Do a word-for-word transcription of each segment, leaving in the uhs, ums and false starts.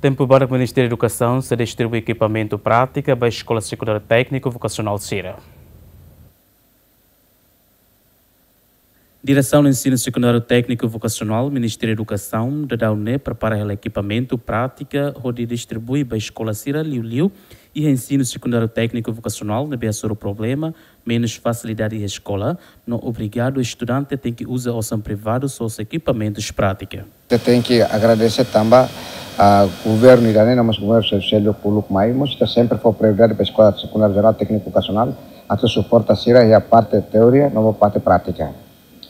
Tempu badak Ministériu Edukasaun sei distribui ekipamentu prátika ba Eskola Sekundáriu Tékniku Vokasionál sira. Diresaun Ensinu Sekundáriu Tékniku Vokasionál, Ministériu Edukasaun, daudaun ne'e prepara hela ekipamentu prátika hodi distribui ba eskola sira, liuliu iha Ensinu Sekundáriu Tékniku Vokasionál, ne'ebé hasoru problema menus fasilidade iha eskola, no obriga estudante tenke uza osan privadu sosa ekipamentus prátika. Ita tenke agradese tanba, ah, governu ida-ne'e, no mós governu sel-, seluk uluk mai, mós ita sempre fó prioridade ba Eskola Sekundáriu Jerál Tékniku Vokasionál, atu suporta sira iha parte teoria no parte prátika.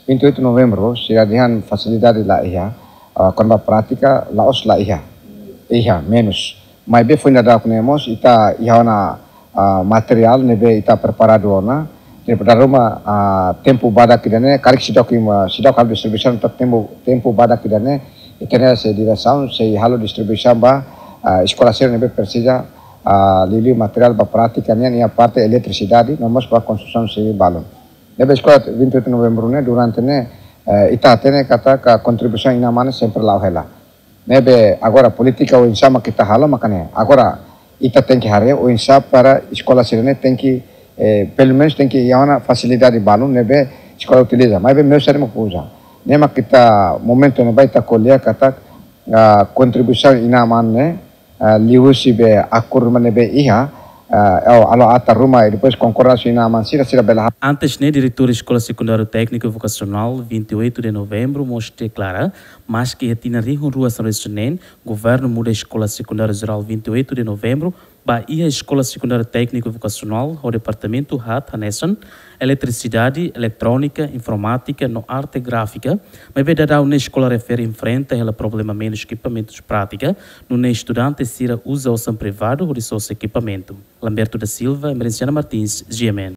Vinte e oito de Novembru, sira dehan fasilidade la iha, ah, kona-ba prátika, la'ós la iha. Iha, menus. Maibé foin daudauk ne'e mós, ita iha ona, ah, materiál ne'ebé ita preparadu ona. Ne'ebé dala ruma, ah, tempu badak ida-ne'e, karik seidauk ita, seidauk halo distribuisaun, tanba tempu, tempu badak ida-ne'e, ita-nia sei diresaun, sei halo distribuisaun ba, ah, eskola sira ne'ebé presiza, ah, liuliu materiál ba prátika nian, iha parte eletrisidade, no mós ba konstrusaun sivil balun. Ne'ebé eskola vinte e oito de Novembru ne'e, durante ne'e, eh, ita hatene katak kontribuisaun inan-aman sempre la'o hela. Ne'ebé agora polítika oinsá mak ita halo maka ne'e. Agora ita tenke haree oinsá para eskola sira-ne'e tenke, eh, pelumenus tenke iha ona fasilidade balun ne'ebé eskola utiliza. Maibé meius sira mak uza. Ne'e mak ita momentu ne'ebá ita ko'alia katak, ah, kontribuisaun inan-aman ne'e, ah, liuhusi be akordu ruma ne'ebé iha, ah, halo ata ruma, i depois konkordánsia inan-aman sira, sira bele ha- Antes ne'e, Diretór Eskola Sekundáriu Tékniku Vokasionál vinte e oito de Novembru mós deklara, maski iha tinan rihun rua sanulu-resin-neen, governu muda Eskola Sekundáriu Jerál vinte e oito de Novembru ba iha Eskola Sekundáriu Tékniku Vokasionál ho departamentu haat hanesan eletrisidade, eletrónika, informátika no arte gráfika, maibé daudaun ne'e eskola refere enfrenta hela problema menus ekipamentus prátika, nune'e estudante sira uza osan privadu hodi sosa ekipamentu. Lamberto da Silva, Emerenciana Martins, G M N.